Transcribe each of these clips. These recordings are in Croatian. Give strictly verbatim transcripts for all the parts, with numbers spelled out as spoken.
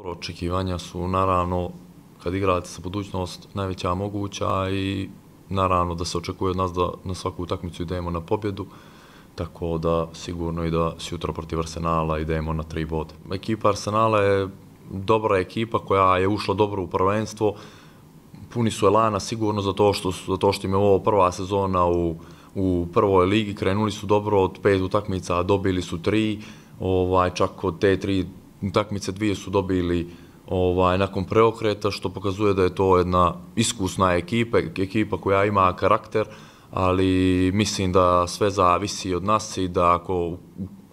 Očekivanja su naravno, kad igrate za budućnost, najveća moguća i naravno da se očekuje od nas da na svaku utakmicu idemo na pobjedu, tako da sigurno i da sutra protiv Arsenala idemo na tri boda. Ekipa Arsenala je dobra ekipa koja je ušla dobro u prvenstvo, puni su elana sigurno zato što, zato što im je ovo prva sezona u, u prvoj ligi, krenuli su dobro od pet utakmica, dobili su tri, ovaj, čak od te tri utakmice dvije su dobili ovaj, nakon preokreta, što pokazuje da je to jedna iskusna ekipa, ekipa koja ima karakter, ali mislim da sve zavisi od nas i da ako,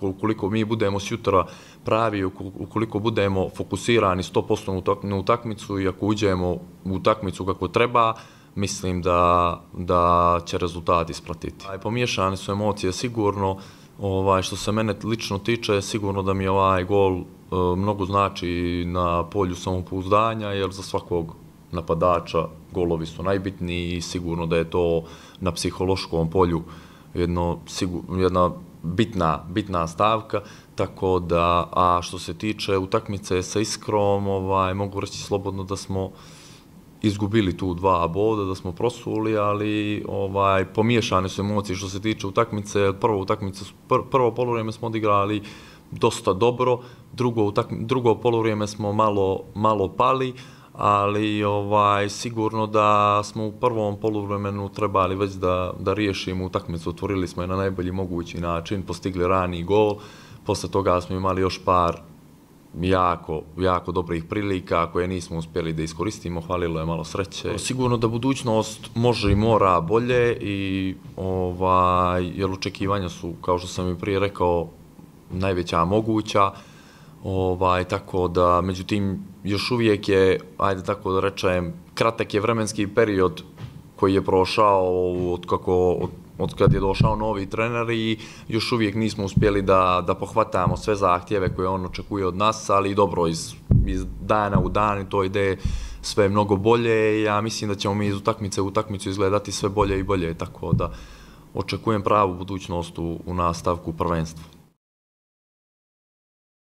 ukoliko mi budemo sutra pravi, ukoliko budemo fokusirani sto posto na utakmicu i ako uđemo u utakmicu kako treba, mislim da, da će rezultat ispratiti. Pomiješane su emocije sigurno, ovaj, što se mene lično tiče, sigurno da mi ovaj gol e, mnogo znači na polju samopouzdanja, jer za svakog napadača golovi su najbitniji i sigurno da je to na psihološkom polju jedno, sigur, jedna bitna, bitna stavka, tako da, a što se tiče utakmice sa Iskrom, ovaj, mogu reći slobodno da smo izgubili tu dva boda, da smo prosuli, ali ovaj, pomiješane su emocije što se tiče utakmice. Prvo, utakmice, pr prvo poluvrijeme smo odigrali dosta dobro, drugo, drugo poluvrijeme smo malo, malo pali, ali ovaj, sigurno da smo u prvom poluvremenu trebali već da, da riješimo utakmicu. Otvorili smo je na najbolji mogući način, postigli rani gol, posle toga smo imali još par jako, jako dobrih prilika koje nismo uspjeli da iskoristimo, hvalilo je malo sreće. Sigurno da budućnost može i mora bolje, i, ovaj, jer očekivanja su, kao što sam i prije rekao, najveća moguća, ovaj, tako da, međutim, još uvijek je, ajde tako da rečem, kratak je vremenski period koji je prošao od kako, od, od kad je došao novi trener i još uvijek nismo uspjeli da, da pohvatamo sve zahtjeve koje on očekuje od nas, ali dobro, iz, iz dana u dan to ide sve mnogo bolje. Ja mislim da ćemo mi iz utakmice u utakmicu izgledati sve bolje i bolje, tako da očekujem pravu budućnost u, u nastavku prvenstva.